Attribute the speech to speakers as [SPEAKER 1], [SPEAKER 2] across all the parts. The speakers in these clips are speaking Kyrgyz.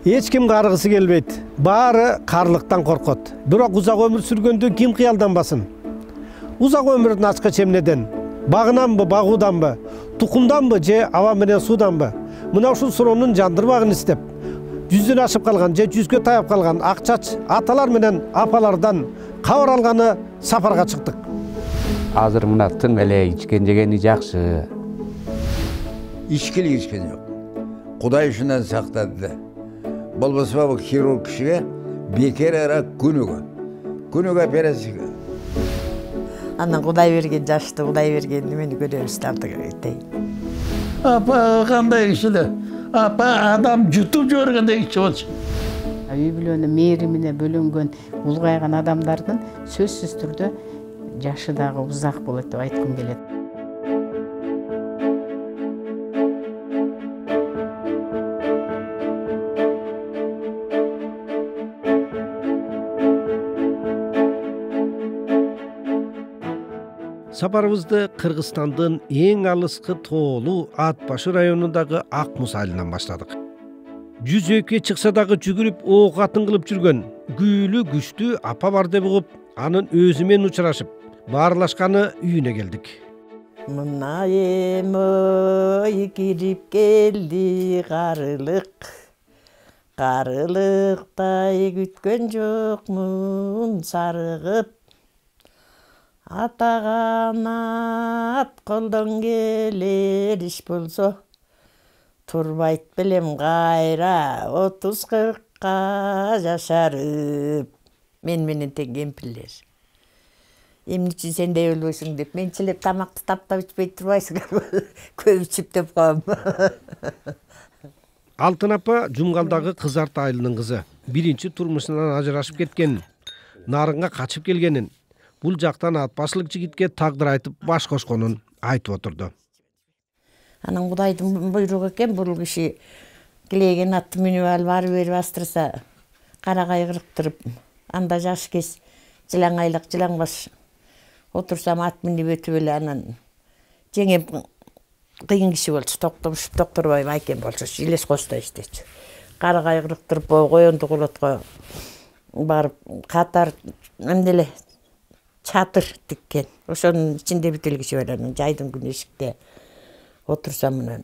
[SPEAKER 1] Эч ким каргысы келбейт. Баары карлыктан коркот. Бирок узак өмүр сүргөндө ким кыялданбасын? Узак өмүрдүн ачкыч эмнеден? Багынанбы, багууданбы? Тукумданбы же аба менен сууданбы? Мына ушул суроонун жандырбагын издеп, 100дөн ашып калган же 100гө таяп калган ак чач аталар менен апалардан кабар алганы сапарга чыктык.
[SPEAKER 2] Азыр мына тың эле ичкен жегени жакшы.
[SPEAKER 3] Ичкилик ичкен жок. Кудай ушундан сактады. Болбосо бул хирург кишиге бекер ара күнүгө операция.
[SPEAKER 4] Андан Кудай берген жашты, Кудай берген немени көрөбүз дейт.
[SPEAKER 5] Апа кандай киши эле? Апа адам жутуп жибергендей киши болчу.
[SPEAKER 6] Үй бүлөнү мээримине бөлөнгөн, улгайган адамдардын сөзсүз түрдө жашы дагы узак болот деп айткым келет.
[SPEAKER 1] Сапарыбызды Кыргызстандын эң алыскы тоолуу Ат Башы районундагы Ак Муз айылынан баштадык. Жүзөккө чыкса дагы жүгүрүп ок атын кылып жүргөн күүлүү күчтүү апа бар деп угуп, анын өзү менен учурашып, баарлашканы үйүнө келдик.
[SPEAKER 4] Мынайым ой кирип келди карылыктай күткөн жокмун сарыгып. Атаганат колдон келер иш болсо, турбайт белем кайра 30-40 жашарып. Мен менен тең кемпирлер. Эмне үчүн сендей өлбөйсүң деп, менчилеп тамакты таптап ичпей турбайсың, көп ичип деп коем.
[SPEAKER 1] Алтын апа Жумгалдагы Кызарт айылынын кызы. Биринчи турмушунан ажырашып кеткен, нарынга качып келгенин, бул жактан Ат Башылык жигитке тагдыр айтып баш кошконун айтып отурду.
[SPEAKER 4] Анан Кудайдын буйругу экен, бул киши килеген атты мүнүп алып ары бери бастырса, кара кайгырыктырып, анда жаш кез жылаңайлык жылаңбаш отурсам ат минип өтүп эле анан жеңем кыйын киши болчу, токтомушуп токторбай байкем болчу, Илес Кошто иштечү. Кара кайгырыктырып коёнду кулотко барып катар эмделе чатыр тиккен. Ошонун ичинде бүтүл киши бар, анан жайдын күнү эшикте отурсам мына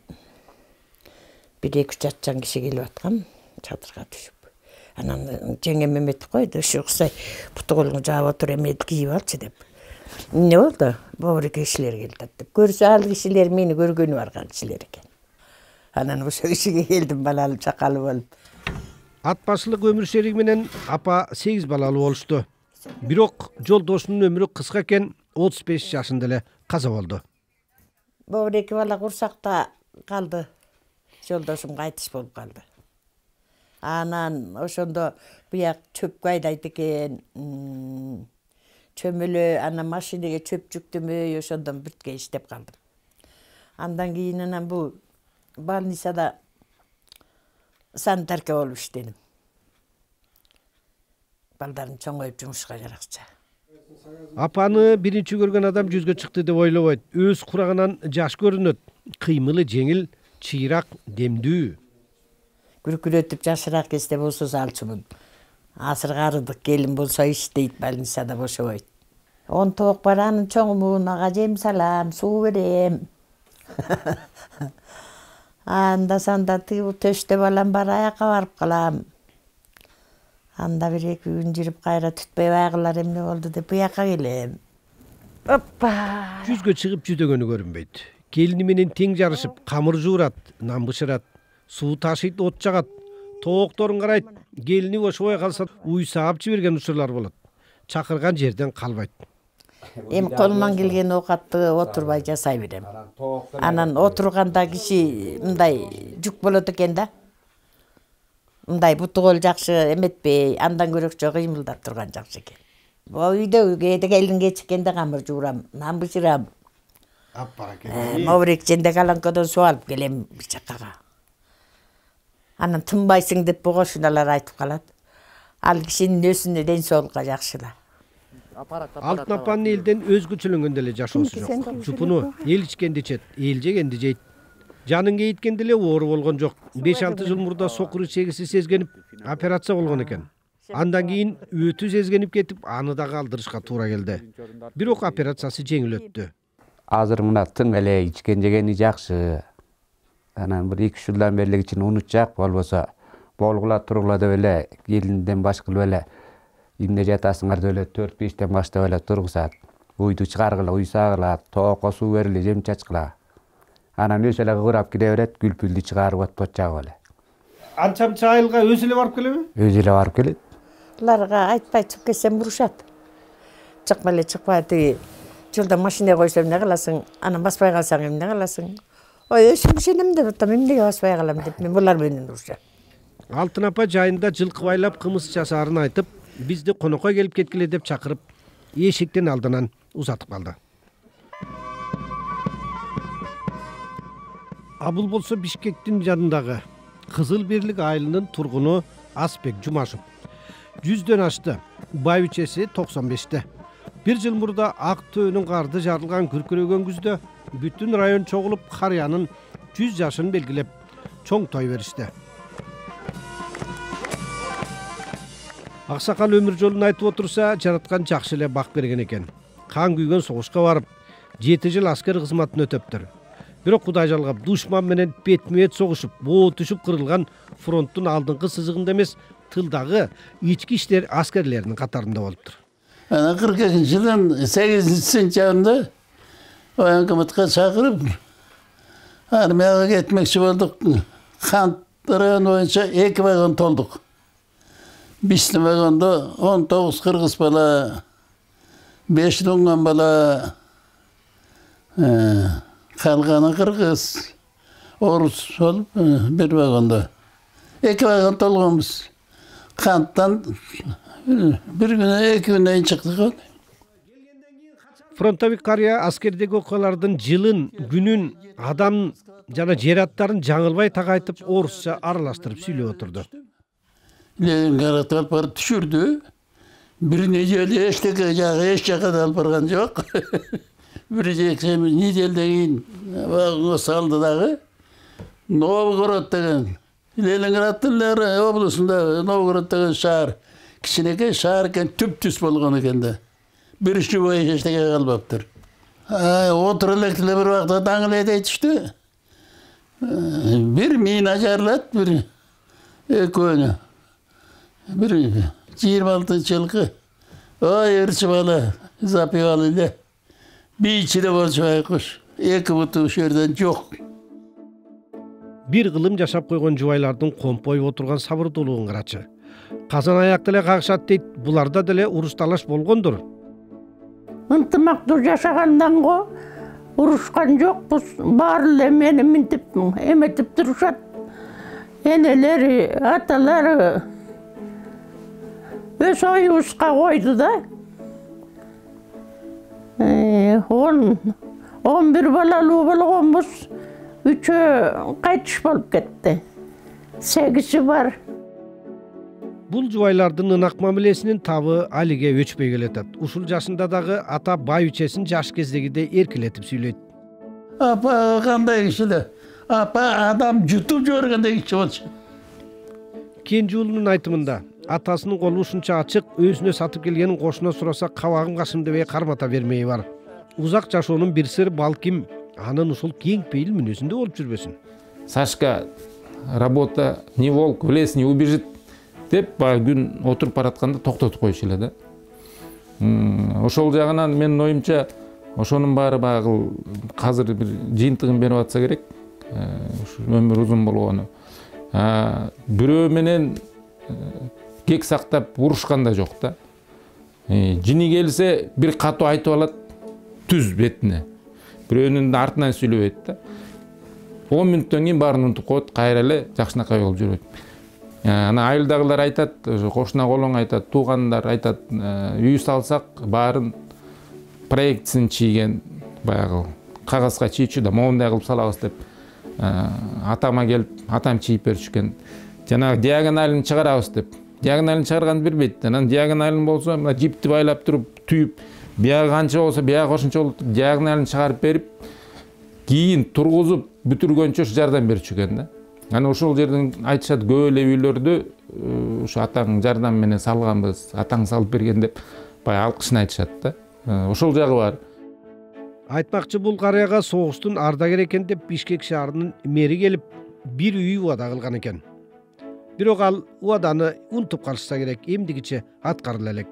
[SPEAKER 4] 1-2 атчан киши келип аткан чатырга түшүп. Анан жеңем эметип койду, ушу уксай буту колуңду жаап отур, эмнеди кийип алчы деп. Эмне болду? Бобуреке кишилер келди деп. Көрсө ал кишилер мени көргөнү барган кишилер экен. Анан ошо кишиге келдим балалуу чакалуу болуп.
[SPEAKER 1] Ат Башылык өмүр шериги менен апа 8 балалуу болушту. Бирок жолдошунун өмүрү кыска экен, 35 жашында эле каза болду.
[SPEAKER 4] Бобуреке бала курсакта калды. Жолдошум кайтыш болуп калды. Анан ошондо буяк чөпкө айдайт экен. Чөмөлө анан машинеге чөп жүктөмөй ошондон бүткө иштеп калдым. Андан кийин анан бул больницада санитарка болуп иштедим. Балдарын чоңоюп жумушка жаракча.
[SPEAKER 1] Апаны биринчи көргөн адам 100гө чыкты деп ойлобойт. Өз курагынан жаш көрүнөт. Кыймылы жеңил, чыйрак, демдүү.
[SPEAKER 4] Күркүрөтүп жашыраак кезде болсо салчумун. Азыр карыдык келин болсо иштейт, больницада бошобойт. 10 тоок бар, анын чоңумун, ага жем салам, суу берем. Анда санда тыгыл төштө балам бар, аякка барып калам. Анда 1-2 күн жүрүп кайра түтпөй байгылар эмне болду деп буякка келем. Оппа!
[SPEAKER 1] 100гө чыгып жүдөгөнү көрүнбөйт. Келини менен тең жарышып, камыр жуурат, нан бышырат, суу ташыйт, от жагат. Тоокторун карайт, келини бошобой калса уй саап жиберген учурлар болот. Чакырган жерден калбайт.
[SPEAKER 4] Эми колуман келген оокатты отурбай жасай берем. Анан отурганда киши мындай жүк болот экен да. Мындай буту кол жакшы эметпей, андан көрөкчө кыймылдап турган жакшы экен. Үйдө кээде келин кечиккенде камыр жуурам, нан бышырам. Мобурек женде каланкодон суу алып келем чаккага. Анан тынбайсың деп кошуналар айтып калат. Ал кишинин өзүнө ден соолукка жакшы да.
[SPEAKER 1] Алтын апанын элден өзгөчөлөнгөн деле жашоосу жок. Жупуну эл ичкенди ичет, эл жегенди жейт. Жанын кейиткенде эле оору болгон жок. 5-6 жыл мурда сокур ичегиси сезгенип операция болгон экен. Андан кийин өтү сезгенип кетип, аны да калтырышка туура келди. Бирок операциясы жеңил өттү.
[SPEAKER 2] Азыр мына тың эле ичкен жегени жакшы. Анан бир 2 жылдан бери кичине унутчак болбосо болгула тургула деп эле келинден баш кылып эле эмне жатасыңар деп эле 4-5тен баштап эле тургузат. Уйду чыгаргыла, уй сагыла, тоокко суу бериле, жем чачкыла. Анан өзү эле кыгырап кире берет, күлпүлдү чыгарып атып чагып эле.
[SPEAKER 1] Анча айылга өзү эле барып келеби?
[SPEAKER 2] Өзү эле барып келет.
[SPEAKER 4] Буларга айтпай чыгып кетсем бурушат. Чыкпа эле чыкпа тиги жолдо машина койсом эмне кыласың? Анан баспай калсаң эмне кыласың? Ой, ишенем деп атам, эмнеге баспай калам деп мен булар менен урушат.
[SPEAKER 1] Алтын апа жайында жылкы байлап кымыз часаарын айтып, бизди конокко келип кеткиле деп чакырып, эшиктин алдынан узатып калды. Бул болсо Бишкектин жанындагы Кызыл Бирлик айылынын тургуну Асбек Жумашев. 100дөн ашты, байбичеси 95те. Бир жыл мурда ак төөнүн карды жарылган күркүрөгөн күздө бүтүн район чогулуп карыянын 100 жашын белгилеп чоң той беришти. Аксакал өмүр жолун айтып отурса, жараткан жакшы эле бак берген экен. Кан күйгөн согушка барып, 7 жыл аскер кызматын өтөптүр. Бирок Кудай жалгап, душман менен бетме-бет согушуп, боо түшүп кырылган фронттун алдыңкы сызыгында эмес, тылдагы ички иштер аскерлеринин катарында болуптур.
[SPEAKER 5] Ana 42 yılın 8. sentyabrında военкоматка çağırıp armiyaga ketmekçi olduk. Kantların boyunca 2 vagon tolduk. Bizni vagonda 19 Kırgız bala, 5 Dungan bala, kalganı Kırgız, Orus olup bir vagonda. 2 vagon tolğumuz. Kanttan bir güne 2 günden çıktık.
[SPEAKER 1] Фронтовик кария аскердеги окуялардын жылын, күнүн, адам жана жер аттарын жаңылбай тагайтып, орусча аралаштырып сүйлөп отурду.
[SPEAKER 5] Leningrad alып барып түшүрдү. Bir necelе эчтеке жагы эч жака да алып барган жок. Bir неделден кийин вагонго салды дагы. Новгород деген Ленинграддын облусунда Новгород деген шаар. Кичинекей шаар экен, түп-түз болгон экен да. Bir işçi boyu eşteke kalbaptır. Otur elektrikle bir vakti dağılaya değişti. Bir mina jarlat, bir ekönü. Bir 26 çılgı. Ay ırçı bala, zapıyalı. Bir içine borçvay kuş. Eki butu şerden yok.
[SPEAKER 1] Bir kılım yaşap koygan jubaylardın kompoy oturgan sabırdoluğun kıraçı. Kazan ayakta ele kakşat deyt, bularda dele uruş talaş bolgondur.
[SPEAKER 7] Ынтымактуу жашагандан го урушкан жокпуз. Баары эле мени минтип эметип турушат. Энелери, аталары өз оюбузга койду да. 11 балалуу болгонбуз. 3-өө кайтыш болуп кетти. 8 бар.
[SPEAKER 1] Бул жубайлардын ынак мамилесинин табы алиге өчпөй келатат. Ушул жашында дагы ата байбичесин жаш кездегидей эркелетип сүйлөйт.
[SPEAKER 5] Apa kандай kişiler? Apa adam jutup jörgендей киши болчу.
[SPEAKER 1] Кенже уулунун айтымында атасынын колу ушунча ачык, өзүнө сатып келгенин кошуна сураса кабагым кашым дебей кармата бермеyi бар. Узак жашоонун бир сыры балким анын ушул кең пейил мүнөзүндө болуп жүрбөсүн.
[SPEAKER 8] Сашка, работа, не волк, в лес не убежит деп күн отуруп баратканда токтотуп коюшу эле да. Ошол жагынан менин оюмча ошонун баары багы азыр бир жыйынтыгын берип атса керек. Өмүр узун болгону. Бирөө менен кек сактап урушкан да жок да. Жини келсе бир катуу айтып алат түз бетине. Бирөөнүн артынан сүйлөбөйт да. 10 мүнөттөн кийин баарын унутуп коет, кайра эле жакшынакай болуп жүрөт. Ана айылдагылар айтат, кошуна колоң айтат, туугандар айтат, үй салсак баарын проектсин чийген баягы кагазга чийчү да моундай кылып салабыз деп атама келип, атам чийип беришкен. Жанагы диагоналын чыгарабыз деп. Диагоналын чыгарганды бербейт. Анан диагоналын болсо мына жипти байлап туруп, түйүп, биягы канча болсо биягы кошумча болуп, диагоналын чыгарып берип, кийин тургузуп бүтүргөнчө жардам берчү экен да. Анан ошол жерден айтышат көп эле үйлөрдө ушу атаң жардам менен салганбыз, атаң салып берген деп баягы алкышын айтышат да. Ошол жагы бар.
[SPEAKER 1] Айтмакчы бул карыяга согуштун ардагер экен деп Бишкек шаарынын мэри келип бир үй убада кылган экен. Бирок ал убаданы унутуп калышса керек, эмдигиче аткарыла элек.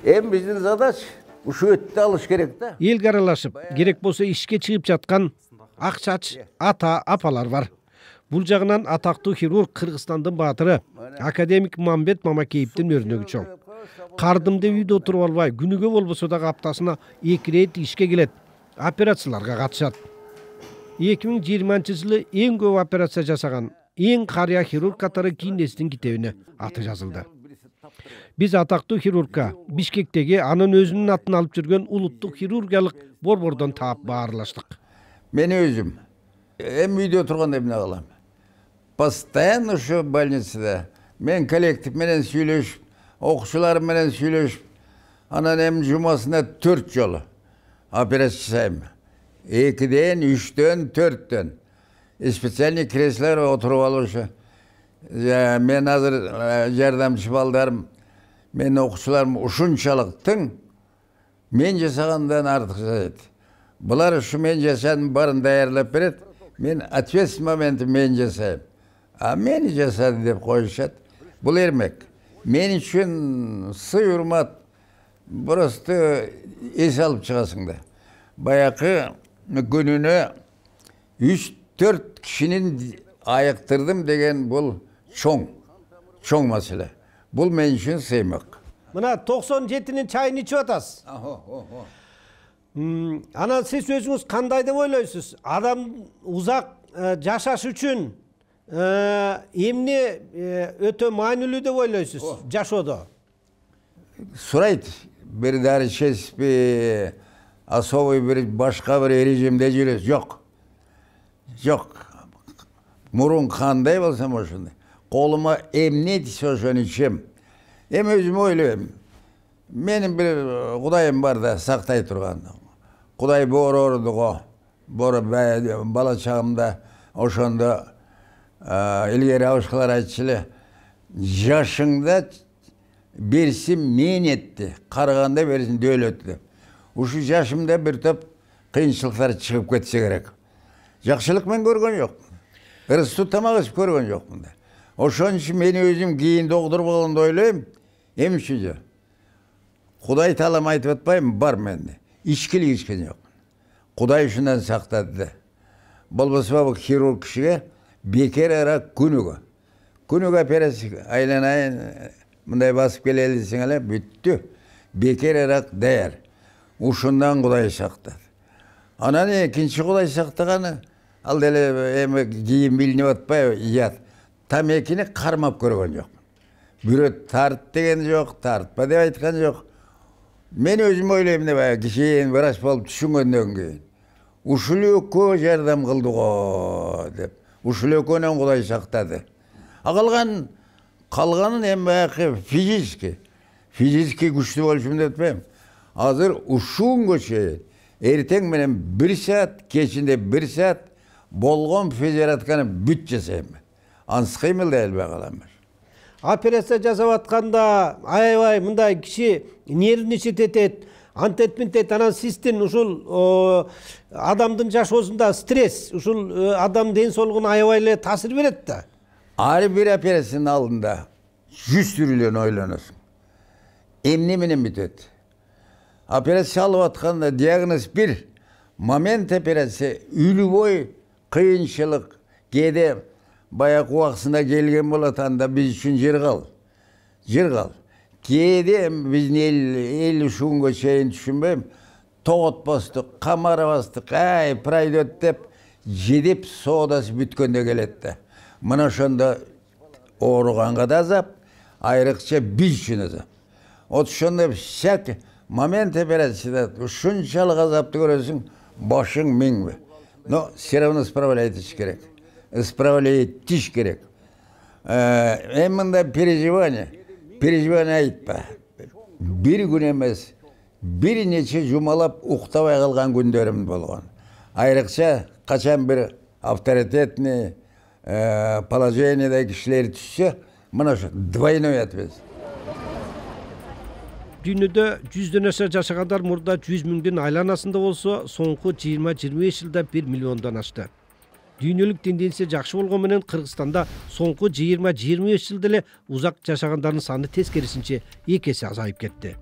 [SPEAKER 3] Биздин задача ушу өттү алыш керек да.
[SPEAKER 1] Элге аралашып, керек болсо ишке чыгып жаткан ак чач ата апалар бар. Бул жагынан атактуу хирург Кыргызстандын баатыры академик Мамбет Мамакеевдин өрнөгү чоң. Кардымды үйдө отуруп албай, күнүгө болбосо дагы аптасына 2 рет ишке келет, операцияларга катышат. 2020-жылы эң көп операция жасаган, эң карыя хирург катары Гиннестин китебине аты жазылды. Биз атактуу хирургка Бишкектеги анын өзүнүн атын алып жүргөн улуттук хирургиялык борбордон таап баарлаштык.
[SPEAKER 3] Мен өзүм үйдө турганда эмне кылам? Постоянно ушу больницада мен коллектив менен сүйлөшүп, окуучуларым менен сүйлөшүп, анан жумасына 4 жолу операция жасайм. 2ден, 3дөн, 4дөн. Специальный креслолор отуруп алышы. Мен азыр жардамчы балдарым, мен окуучуларым ушунчалыктың мен жасагандан артык жасайт. Булар ушу мен жасадым барын даярлап берет. Мен ответственный моментте мен жасайм. А мени жасады деп коюшат. Бул эрмек. Мен үчүн сый урмат. Просто эс алып чыгасың да. Баякы күнүнө 3-4 кишинин айыктырдым деген бул чоң маселе. Бул мен үчүн сыймак.
[SPEAKER 1] Мына 97-нин чайын ичип атасыз. Анан сиз өзүңүз кандай деп ойлойсуз? Адам узак жашаш үчүн эмне өтө маанилүү деп ойлойсуз жашоодо?
[SPEAKER 3] Сурайт, бир дары ичесизби, особый бир башка бир режимде жүрөсүз? Жок. Мурун кандай болсом ошондой. Колума эмне тийсе ошону ичем. Өзүм ойлойм. Менин бир Кудайым бар да сактай турган. Кудай боорордуго, бала чагымда ошондо илгери абышкалар айтчу эле, жашыңда берсин мээнетти, карыганда берсин дөөлөттү деп. Ушу жашымда бир топ кыйынчылыктар чыгып кетсе керек. Жакшылык мен көргөн жокмун. Ырыстуу тамак ичип көргөн жокмун да. Ошон үчүн мен өзүм кийин доктур болгондо ойлойм, эмне үчүн? Кудай таалам айтып атпайм, бар менде. Ичкилик ичкен жокмун. Кудай ушундан сактады да. Болбосо бул хирург кишиге бекер ара күнүгө операция айланайын, мындай басып келели десең эле бүттү. Бекер ара даяр. Ушундан Кудай сактады. Анан экинчи Кудай сактаганы ал деле кийин билинип атпайбы, ят. Тамекини кармап көргөн жокмун. Бирөө тарт деген жок, тартпа деп айткан жок. Мен өзүм ойлойм да кийин врач болуп түшүнгөндөн кийин. Ушул экөө жардам кылды го деп. Ушул экөөнөн Кудай сактады. Калганын баягы физически күчтүү болушум деп атпайм. Азыр ушунга чейин эртең менен 1 саат, кечинде 1 саат болгон физиоратканы бүт жасайм. Ансы кыймылдай албай калам.
[SPEAKER 1] Операция жасап атканда аябай мындай киши нервничать этет, антет, анан сиздин ушул адамдын жашоосунда стресс, ушул адам ден соолугуна аябай эле таасир берет да.
[SPEAKER 3] Ар бир операциянын алдында 100 түрлөн ойлоносуң. Эмне менен бүтөт? Операция алып атканда диагноз бир, момент операция үлбөй кыйынчылык, кээде баягы убактысында келген болот, анда биз үчүн жер кал. Кээде биздин эл ушунга чейин түшүнбөйм, тоготпостук, камарабастык, пройдет деп жедеп соодасы бүткөндө келет да. Мына ошондо ооруганга да азап, айрыкча биз үчүн азап. Ошондо всякий момент операцияда ушунчалык азапты көрөсүң, башың миңби. Но все равно справляйтыш керек. Исправляйтыш керек. Мындай переживание айтпа. Бир күн эмес, бир нече жумалап уктабай калган күндөрүм болгон. айрыкча качан бир авторитетный положениеде кишилер түшсө, мына ошо двойной ответственность.
[SPEAKER 1] Дүйнөдө 100дөн аша жашагандар мурда 100 миңдин айланасында болсо, соңку 20-25 жылда 1 миллиондон ашты. Дүйнөлүк тенденция жакшы болгон менен Кыргызстанда соңку 20-25 жылда эле узак жашагандардын саны тескерисинче 2 эсе азайып кетти.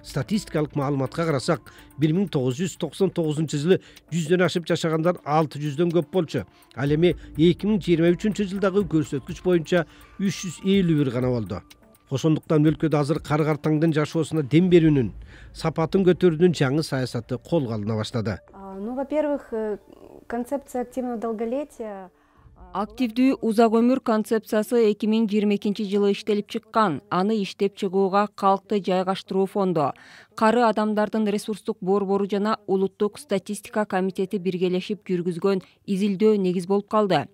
[SPEAKER 1] Статистикалык маалыматка карасак, 1999 жылы 100дөн ашып жашагандар 600дөн көп болчу. Ал эми 2023 жылдагы көрсөткүч боюнча 351 гана болду. Ошондуктан өлкөдө азыр кары-картаңдын жашоосуна дем берүүнүн, сапатын көтөрүүнүн жаңы саясаты колго алына баштады.
[SPEAKER 9] Во-первых, концепция активного долголетия.
[SPEAKER 10] Активдүү узак өмүр концепциясы 2022 жылы иштелип чыккан. Аны иштеп чыгууга Калкты жайгаштыруу фонду, кары адамдардын ресурстук борбору жана Улуттук статистика комитети биргелешип жүргүзгөн изилдөө негиз болуп калды.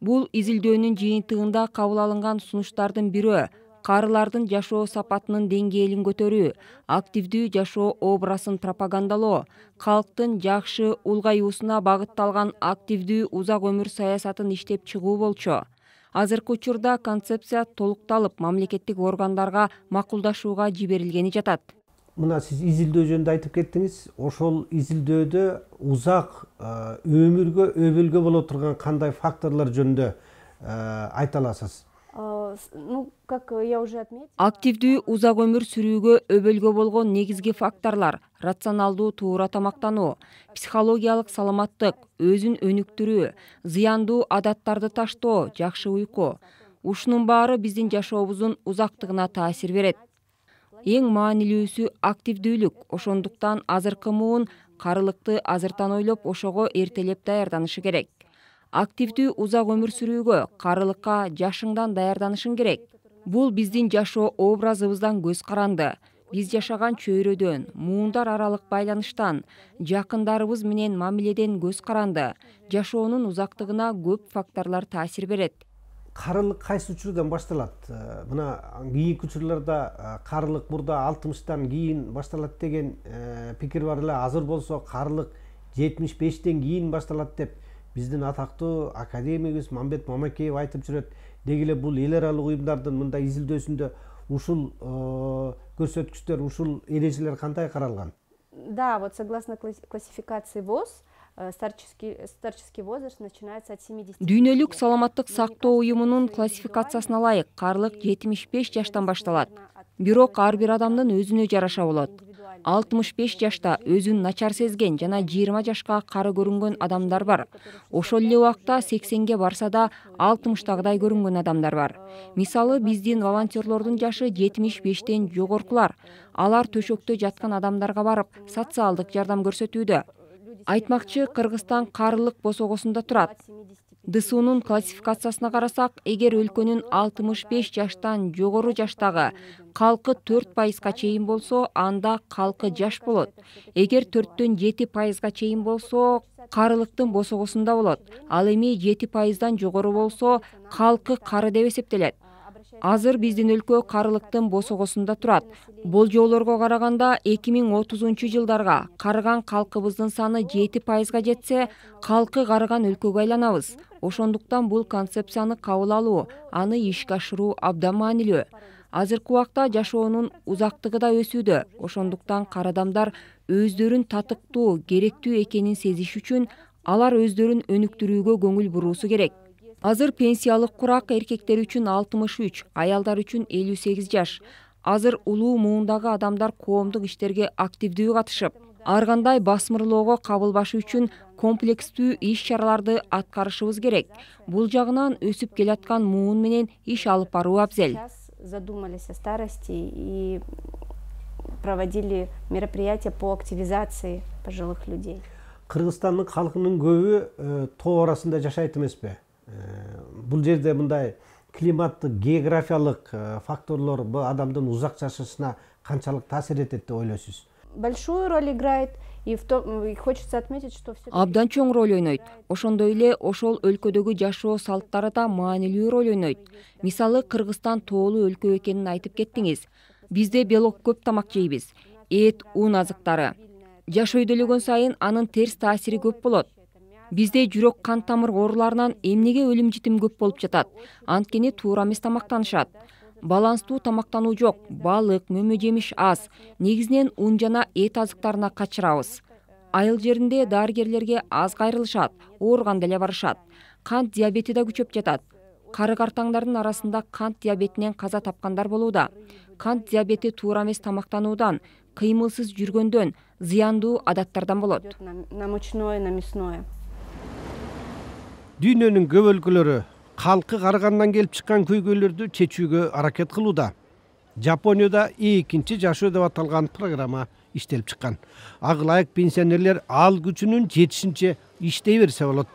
[SPEAKER 10] Бул изилдөөнүн жыйынтыгында кабыл алынган сунуштардын бири карылардын жашоо сапатынын деңгээлин көтөрүү, активдүү жашоо образын пропагандалоо, калктын жакшы улгаюусуна багытталган активдүү узак өмүр саясатын иштеп чыгуу болчу. Азыркы учурда концепция толукталып, мамлекеттик органдарга макулдашууга жиберилгени жатат.
[SPEAKER 1] Мына сиз изилдөө жөнүндө айтып кеттиңиз. Ошол изилдөөдө узак өмүргө өбөлгө боло турган кандай факторлор жөнүндө айта аласыз?
[SPEAKER 9] Как я уже отметила.
[SPEAKER 10] Активдүү узак өмүр сүрүүгө өбөлгө болгон негизги факторлор: рационалдуу туура тамактануу, психологиялык саламаттык, өзүн өнүктүрүү, зыяндуу адаттарды таштоо, жакшы уйку. Ушунун баары биздин жашообуздун узактыгына таасир берет. Эң маанилүүсү активдүүлүк. Ошондуктан азыркы муун карылыкты азыртан ойлоп, ошого эртелеп даярданышы керек. Активдүү узак өмүр сүрүүгө карылыкка жашыңдан даярданышың керек. Бул биздин жашоо образыбыздан көз каранды. Биз жашаган чөйрөдөн, муундар аралык байланыштан, жакындарыбыз менен мамиледен көз каранды. Жашоонун узактыгына көп факторлор таасир берет.
[SPEAKER 1] Карылык кайсы учурдан башталат? Мына кийинки учурларда карылык мурда 60тан кийин башталат деген пикир бар эле. Азыр болсо карылык 75тен кийин башталат деп биздин атактуу академигибиз Мамбет Мамакеев айтып жүрөт. Деги эле бул эл аралык уюмдардын мындай изилдөөсүндө ушул көрсөткүчтөр, ушул эрежелер кандай каралган?
[SPEAKER 9] Да, вот согласно классификации ВОЗ, старческий возраст начинается от 70.
[SPEAKER 10] Дүйнөлүк саламаттык сактоо уюмунун классификациясына ылайык карылык 75 жаштан башталат. Бирок ар бир адамдын өзүнө жараша болот. 65 жашта өзүн начар сезген жана 20 жашка кары көрүнгөн адамдар бар. Ошол эле убакта 80ге барса да 60тагыдай көрүнгөн адамдар бар. Мисалы, биздин волонтерлордун жашы 75тен жогоркулар. Алар төшөктө жаткан адамдарга барып, социалдык жардам көрсөтүүдө. Айтмакчы, Кыргызстан карылык босогосунда турат. ДСУнун классификациясына карасак, эгер өлкөнүн 65 жаштан жогору жаштагы калкы 4%га чейин болсо, анда калкы жаш болот. Эгер 4-төн 7%га чейин болсо, карылыктын босогосунда болот. Ал эми 7%дан жогору болсо, калкы кары деп эсептелет. Азыр биздин өлкө карылыктын босогосунда турат. Болжоолорго караганда 2030 жылдарга карыган калкыбыздын саны 7%га жетсе, калкы карыган өлкөгө айланабыз. Ошондуктан бул концепцияны кабыл алуу, аны ишке ашыруу абдан маанилүү. Азыркы убакта жашоонун узактыгы да өсүүдө. Ошондуктан кары адамдар өздөрүн татыктуу, керектүү экенин сезиш үчүн алар өздөрүн өнүктүрүүгө көңүл буруусу керек. Азыр пенсиялык курак эркектер үчүн 63, аялдар үчүн 58 жаш. Азыр улуу муундагы адамдар коомдук иштерге активдүү катышып, ар кандай басмырлоого кабылбашы үчүн комплекстүү иш-чараларды аткарышыбыз керек. Бул жагынан өсүп келаткан муун менен иш алып баруу абзел.
[SPEAKER 9] Задумались о старости и проводили мероприятия по активизации пожилых людей.
[SPEAKER 1] Кыргызстандын калкынын көбү тоо арасында жашайт эмеспи? Бул жерде мындай климаттык, географиялык факторлор бул адамдын узак жашашына канчалык таасир этет деп ойлойсуз?
[SPEAKER 9] Большую роль играет, и хочется отметить, что все.
[SPEAKER 10] Абдан чоң роль ойнойт. Ошондой эле ошол өлкөдөгү жашоо салттары да маанилүү роль ойнойт. Мисалы, Кыргызстан тоолуу өлкө экенин айтып кеттиңиз. Бизде белок көп тамак жейбиз. Эт, ун азыктары. Жаш өйдөлөгөн сайын анын терс таасири көп болот. Бизде жүрөк кан тамыр ооруларынан эмнеге өлүм житим көп болуп жатат? Анткени туура эмес тамактанышат. Баланстуу тамактануу жок, балык, мөмө жемиш аз. Негизинен ун жана эт азыктарына качырабыз. Айыл жеринде дарыгерлерге аз кайрылышат, ооруганда эле барышат. Кант диабети да күчөп жатат. Кары-картаңдардын арасында кант диабетинен каза тапкандар болууда. Кант диабети туура эмес тамактануудан, кыймылсыз жүргөндөн, зыяндуу адаттардан болот.
[SPEAKER 9] На мучное, на мясное.
[SPEAKER 1] Дүйнөнүн көп өлкөлөрү калкы карыгандан келип чыккан көйгөйлөрдү чечүүгө аракет кылууда. Жапонияда экинчи жашоо деп аталган программа иштелип чыккан. Ага ылайык пенсионерлер ал күчүнүн жетишинче иштей берсе болот.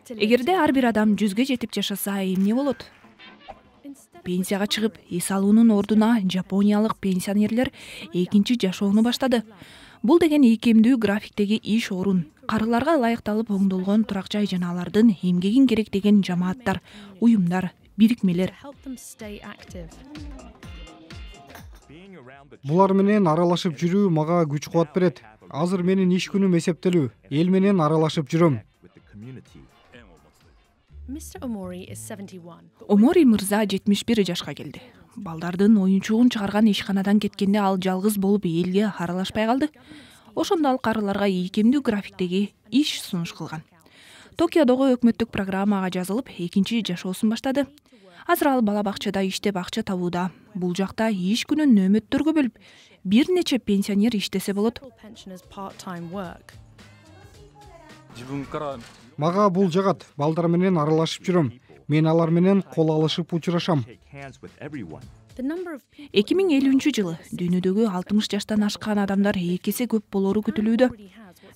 [SPEAKER 11] Эгерде ар бир адам 100ге жетип жашаса, эмне болот? Пенсияга чыгып, эс алуунун ордуна жапониялык пенсионерлер экинчи жашоону баштады. Бул деген ийкемдүү графиктеги иш орун, карыларга ылайыкталып оңдолгон турак жай жана алардын эмгегин керектеген жамааттар, уюмдар, бирикмелер.
[SPEAKER 12] Булар менен аралашып жүрүү мага күч кубат берет. Азыр менин иш күнүм эсептелүү. Эл менен аралашып жүрөм.
[SPEAKER 11] Омори мырза 71 жашка келди. Балдардын оюнчугун чыгарган ишканадан кеткенде ал жалгыз болуп элге аралашпай калды. Ошондо ал карыларга ийкемдүү графиктеги иш сунуш кылган. Токиодогу өкмөттүк программага жазылып, экинчи жашоосун баштады. Азыр ал бала бакчада иштеп акча табууда. Бул жакта иш күнүн нөөмөттөргө бөлүп, бир нече пенсионер иштесе болот.
[SPEAKER 12] Мага бул жагат. Балдар менен аралашып жүрөм. Мен алар менен кол алышып учурашам.
[SPEAKER 11] 2050-жылы дүйнөдөгү 60 жаштан ашкан адамдар 2 эсе көп болору күтүлүүдө.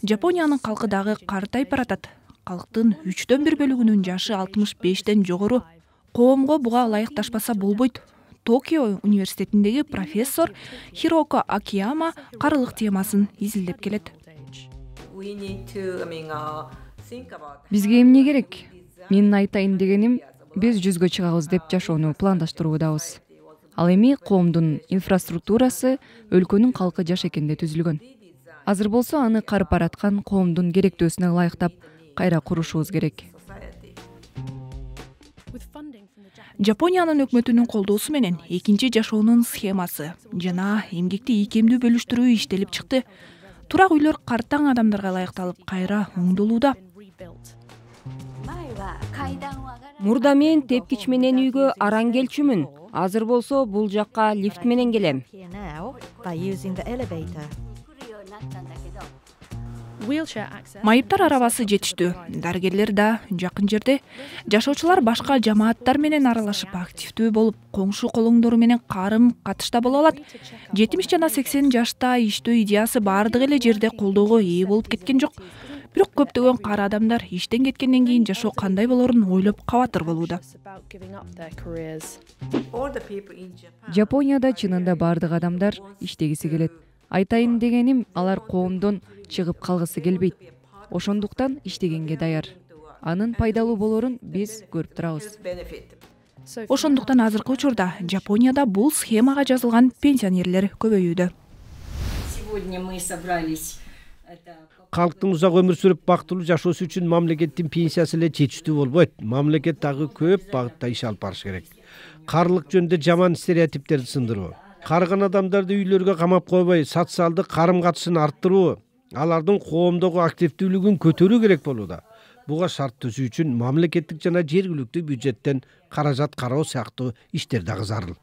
[SPEAKER 11] Жапониянын калкы дагы картайып баратат. Калктын 3/4 бөлүгүнүн жашы 65ден жогору. Коомго буга ылайыкташпаса болбойт. Токио университетиндеги профессор Хироко Акияма карылык темасын изилдеп келет.
[SPEAKER 13] Бизге эмне керек? Менин айтайын дегеним, биз 100гө чыгабыз деп жашоону пландаштыруудабыз. Ал эми коомдун инфраструктурасы өлкөнүн калкы жаш экенде түзүлгөн. Азыр болсо аны карып бараткан коомдун керектөөсүнө ылайыктап кайра курушубуз керек.
[SPEAKER 11] Жапониянын өкмөтүнүн колдоосу менен экинчи жашоонун схемасы жана эмгекти ийкемдүү бөлүштүрүү иштелип чыкты. Турак үйлөр картаң адамдарга ылайыкталып кайра оңдолууда.
[SPEAKER 10] Мурда мен тепкич менен үйгө араң келчүмүн. Азыр болсо бул жакка лифт менен келем.
[SPEAKER 11] Майыптар арабасы жетиштүү. Дарыгерлер да жакын жерде. Жашоочулар башка жамааттар менен аралашып активдүү болуп, коңшу колоңдору менен карым катышта боло алат. 70 жана 80 жашта иштөө идеясы бардык эле жерде колдоого ээ болуп кеткен жок. Бирок көптөгөн кары адамдар иштен кеткенден кийин жашоо кандай болорун ойлоп кабатыр болууда.
[SPEAKER 13] Жапонияда чынында бардык адамдар иштегиси келет. Айтайын дегеним, алар коомдон чыгып калгысы келбейт. Ошондуктан иштегенге даяр. Анын пайдалуу болорун биз көрүп турабыз.
[SPEAKER 11] Ошондуктан азыркы учурда Жапонияда бул схемага жазылган пенсионерлер көбөйүүдө.
[SPEAKER 1] Калктын узак өмүр сүрүп бактылуу жашоосу үчүн мамлекеттин пенсиясы эле жетиштүү болбойт. Мамлекет дагы көп багытта иш алып барыш керек. Карылык жөнүндө жаман стереотиптерди сындыруу, карыган адамдарды үйлөргө камап койбой, социалдык карым катышын арттыруу, алардын коомдогу активдүүлүгүн көтөрүү керек болууда. Буга шарт түзүү үчүн мамлекеттик жана жергиликтүү бюджеттен каражат кароо сыяктуу иштер дагы зарыл.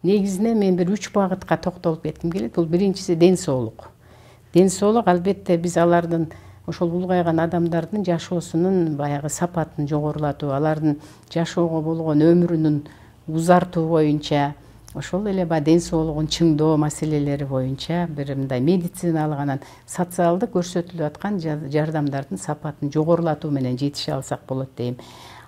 [SPEAKER 6] Негизинен мен бир 3 багытка токтолуп кетким келет. Бул биринчиси ден соолук. Ден соолук албетте биз алардын ошол улгайган адамдардын жашоосунун баягы сапатын жогорулатуу, алардын жашоого болгон өмүрүнүн узартуу боюнча, ошол эле ден соолугун чыңдоо маселелери боюнча бир мындай медициналык анан социалдык көрсөтүлүп аткан жардамдардын сапатын жогорулатуу менен жетише алсак болот дейм.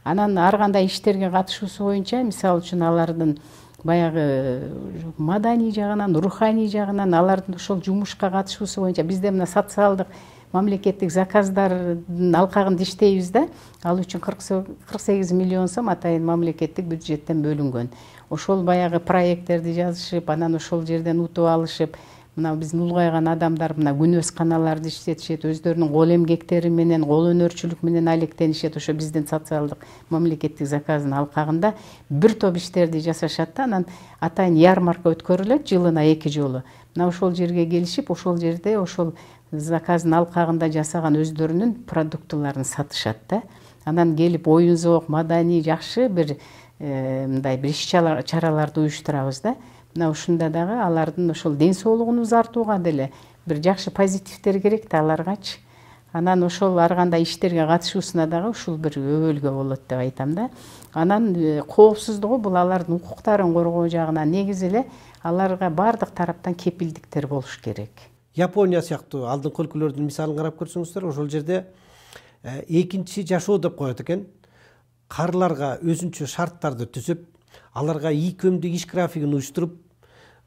[SPEAKER 6] Анан ар кандай иштерге катышуусу боюнча, мисалы үчүн алардын баягы маданий жагынан, руханий жагынан алардын ошол жумушка катышуусу боюнча бизде мына социалдык мамлекеттик заказдардын алкагында иштейбиз да. Ал үчүн 48 миллион сом атайын мамлекеттик бюджеттен бөлүнгөн. Ошол баягы проекттерди жазышып, анан ошол жерден утуп алышып, мына биздин улгайган адамдар мына күнөс каналарды иштетишет, өздөрүнүн кол эмгектери менен, кол өнөрчүлүк менен алектенишет. Ошо биздин социалдык мамлекеттик заказдын алкагында бир топ иштерди жасашат да, анан атайын ярмарка өткөрүлөт жылына 2 жолу. Мына ошол жерге келишип, ошол жерде ошол заказдын алкагында жасаган өздөрүнүн продуктыларын сатышат да. Анан келип оюн зоок, маданий жакшы бир мындай бир иш чараларды уюштурабыз да. Мына ушунда дагы алардын ошол ден соолугун узартууга деле бир жакшы позитивдер керек да аларгачы. Анан ошол ар кандай иштерге катышуусуна дагы ушул бир өбөлгө болот деп айтам да. Анан коопсуздугу бул алардын укуктарын коргоо жагынан негизи эле аларга баардык тараптан кепилдиктер болуш керек.
[SPEAKER 1] Япония сыяктуу алдыңкы өлкөлөрдүн мисалын карап көрсөңүздөр, ошол жерде экинчи жашоо деп коет экен. Карыларга өзүнчө шарттарды түзүп, аларга ийкөмдүү иш графигин уюштуруп,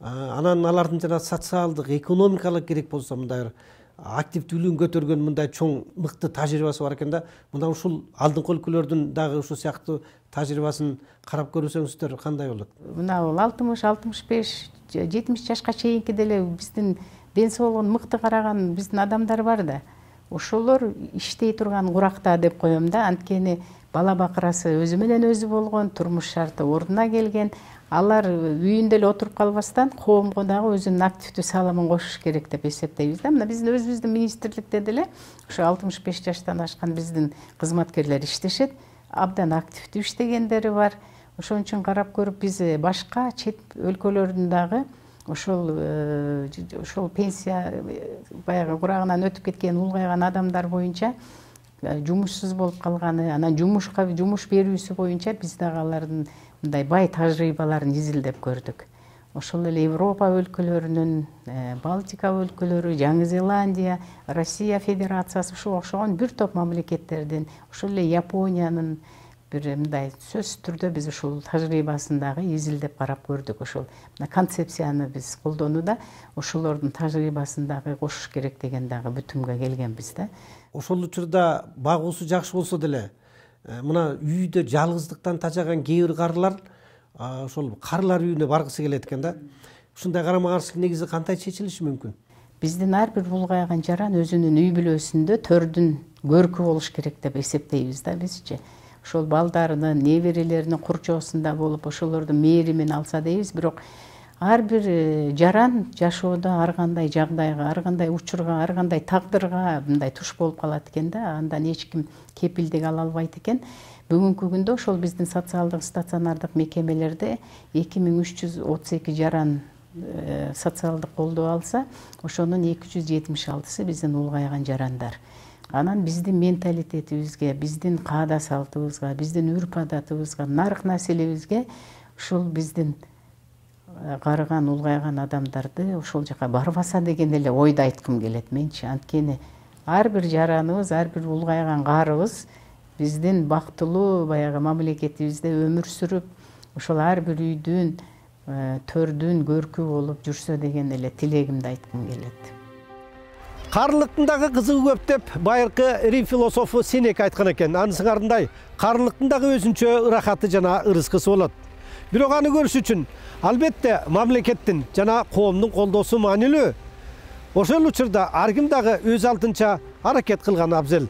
[SPEAKER 1] анан алардын жана социалдык, экономикалык керек болсо мындай активдүүлүгүн көтөргөн мындай чоң мыкты тажрыйбасы бар экен да. Мына ушул алдыңкы өлкөлөрдүн дагы ушул сыяктуу тажрыйбасын карап көрсөңүздөр кандай болот?
[SPEAKER 6] Мына бул 60, 65, 70 жашка чейинки деле биздин ден соолугун мыкты караган биздин адамдар бар да. Ошолор иштей турган куракта деп коем да. Анткени бала бакырасы өзү менен өзү болгон, турмуш шарты ордуна келген. Алар үйүндө эле отуруп калбастан коомго дагы өзүнүн активдүү салымын кошуш керек деп эсептейбиз да. Мына биздин өзүбүздүн министрликте деле ошо 65 жаштан ашкан биздин кызматкерлер иштешет. Абдан активдүү иштегендери бар. Ошон үчүн карап көрүп биз башка чет өлкөлөрдүн дагы ошол пенсия баягы курагынан өтүп кеткен улгайган адамдар боюнча жумушсуз болуп калганы, анан жумуш берүүсү боюнча биз дагы алардын мындай бай тажрыйбаларын изилдеп көрдүк. Ошол эле Европа өлкөлөрүнүн, Балтика өлкөлөрү, Жаңы Зеландия, Россия Федерациясы ушуга окшогон бир топ мамлекеттердин, ошол эле Япониянын бир мындай сөзсүз түрдө биз ушул тажрыйбасын дагы изилдеп карап көрдүк. Ошол концепцияны биз колдонууда ошолордун тажрыйбасын дагы кошуш керек деген дагы бүтүмгө келгенбиз да.
[SPEAKER 1] Ошол учурда багуусу жакшы болсо деле, мына үйдө жалгыздыктан тажаган кээ бир карылар ошол карылар үйүнө баргысы келет экен да. Ушундай карама каршылык негизи кандай чечилиши мүмкүн?
[SPEAKER 6] Биздин ар бир улгайган жаран өзүнүн үй бүлөсүндө төрдүн көркү болуш керек деп эсептейбиз да бизчи. Ошол балдарынын, неберелеринин курчоосунда болуп, ошолордун мээримин алса дейбиз. Бирок ар бир жаран жашоодо ар кандай жагдайга, ар кандай учурга, ар кандай тагдырга мындай туш болуп калат экен да. Андан эч ким кепилдик ала албайт экен. Бүгүнкү күндө ошол биздин социалдык стационардык мекемелерде 2332 жаран социалдык колдоо алса, ошонун 276сы биздин улгайган жарандар. Анан биздин менталитетибизге, биздин каада салтыбызга, биздин үрп адатыбызга, нарк населебизге ушул биздин карыган улгайган адамдарды ошол жака барбаса деген эле ойду айткым келет менчи. Анткени ар бир жараныбыз, ар бир улгайган карыбыз биздин бактылуу баягы мамлекетибизде өмүр сүрүп, ошол ар бир үйдүн, төрдүн көркү болуп жүрсө деген эле тилегимди айткым келет.
[SPEAKER 1] Карылыктын дагы кызыгы көп деп байыркы Рим философу Сенека айткан экен. Анысың ардындай карылыктын дагы өзүнчө ырахаты жана ырыскысы болот. Бирок аны көрүш үчүн албетте мамлекеттин жана коомдун колдоосу маанилүү. Ошол учурда ар ким дагы өз алдынча аракет кылганы абзел.